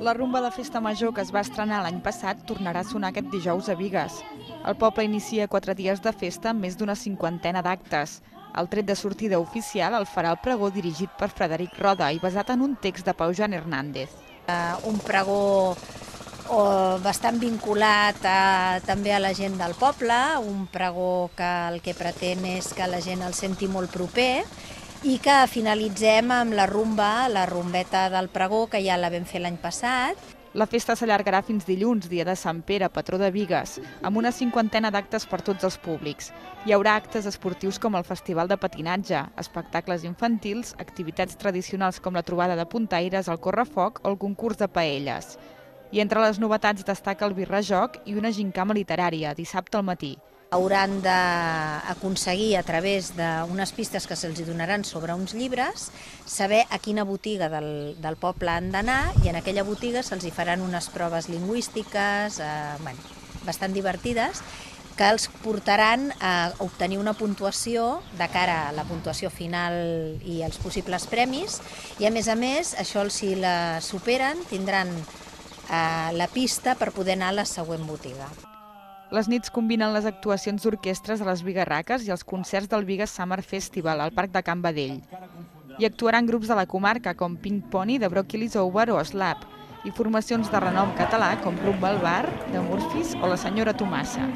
La rumba de festa major que es va estrenar l'any passat tornarà a sonar aquest dijous a Bigues. El poble inicia 4 dies de festa amb més d'una cinquantena d'actes. El tret de sortida oficial el farà el pregó dirigit per Frederic Roda i basat en un text de Pau Joan Hernández. Un pregó bastant vinculat també a la gent del poble, un pregó que el que pretén és que la gent el senti molt proper i que finalitzem amb la rumba, la rumbeta del pregó, que ja la vam fer l'any passat. La festa s'allargarà fins dilluns, dia de Sant Pere, patró de Bigues, amb una cinquantena d'actes per tots els públics. Hi haurà actes esportius com el Festival de Patinatge, espectacles infantils, activitats tradicionals com la trobada de puntaires, el correfoc o el concurs de paelles. I entre les novetats destaca el birrajoc i una gincama literària, dissabte al matí. Hauran d'aconseguir, a través d'unes pistes que se'ls donaran sobre uns llibres, saber a quina botiga del poble han d'anar, i en aquella botiga se'ls faran unes proves lingüístiques bastant divertides, que els portaran a obtenir una puntuació de cara a la puntuació final i els possibles premis, i a més, això, si la superen, tindran la pista per poder anar a la següent botiga. Les nits combinen les actuacions d'orquestres a les Bigarraques i els concerts del Bigues Summer Festival al Parc de Can Badell. Hi actuaran grups de la comarca com Pink Pony, de Broccoli Over o Slap, i formacions de renom català com Rumba al Bar, de Murphys o la Senyora Tomassa.